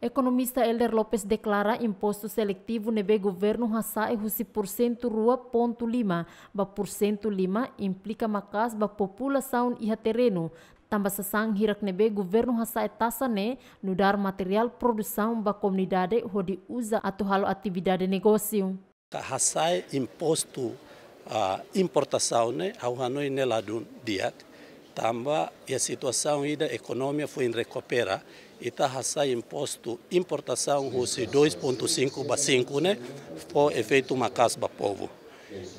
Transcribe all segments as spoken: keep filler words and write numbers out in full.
Ekonomista Helder Lopes deklara impostu seletivu ne'ebé governu hasa'e husi pursentu rua pontu lima ba pursentu lima implika maka'as ba populasaun iha terrenu, tanba sasán hirak ne'ebé governu hasa'e taxa ne'e nu'udar materiál produsaun ba komunidade hodi uza atu halo atividade negósiu. Hasa'e impostu, ah, importasaun ne'e, ha'u hanoin ne'e ladún di'ak, tanba iha situasaun ida ekonomia foin rekupera, ita hasa'e impostu importasaun husi dois pontu cinco ba cinco ne'e, fó efeitu maka'as ba povu.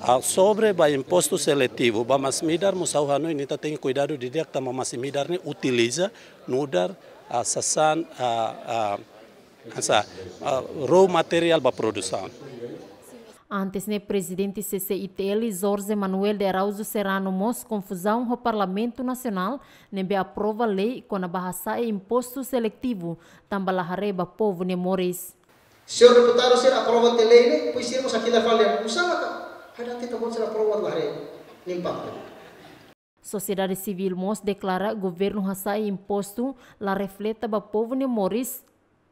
Ah, sobre ba impostu seletivu, ba masin-midar mós ha'u hanoin ita tenke kuidadu didi'ak tanba masin-midar ne'e utiliza nu'udar, ah, sasán, ah, ah, hanesan, ah, raw material ba produsaun. Antes ne'e, Prezidente C C I T L, Jorge Manuel de Araújo Serrano, mós konfuzaun ho Parlamentu Nasionál ne'ebé aprova lei kona-ba hasa'e impostu seletivu, tanba la haree ba povu nia moris. Señór deputadu sira aprova tiha lei ne'e, depois sira mós hakilar fali, usa maka, ada tita bon sira aprova la haree nia impaktu. Sosiedade sivíl mós deklara governu hasa'e impostu la refleta ba povu nia moris,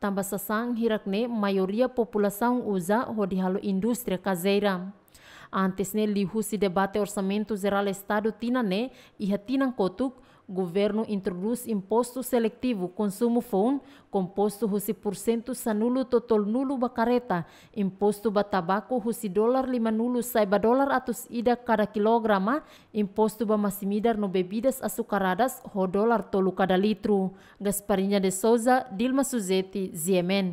tanba sasán hirak ne'e maioria populasaun uza hodi halo indústria kazeira. Antes ne'e, liuhusi debate Orsamentu Jerál Estadu tinan ne'e, iha tinan kotuk, governu introdús impostu seletivu konsumu foun, kompostu husi pursentu sanulu to'o tolunulu ba kareta, impostu ba tabaku husi dolar limanulu sai ba dolar atus ida kada kilograma, impostu ba masin-midar no bebidas açucaradas ho dolar tolu kada litru. Gasparinha de Souza, Dilma Suzeti, G M N.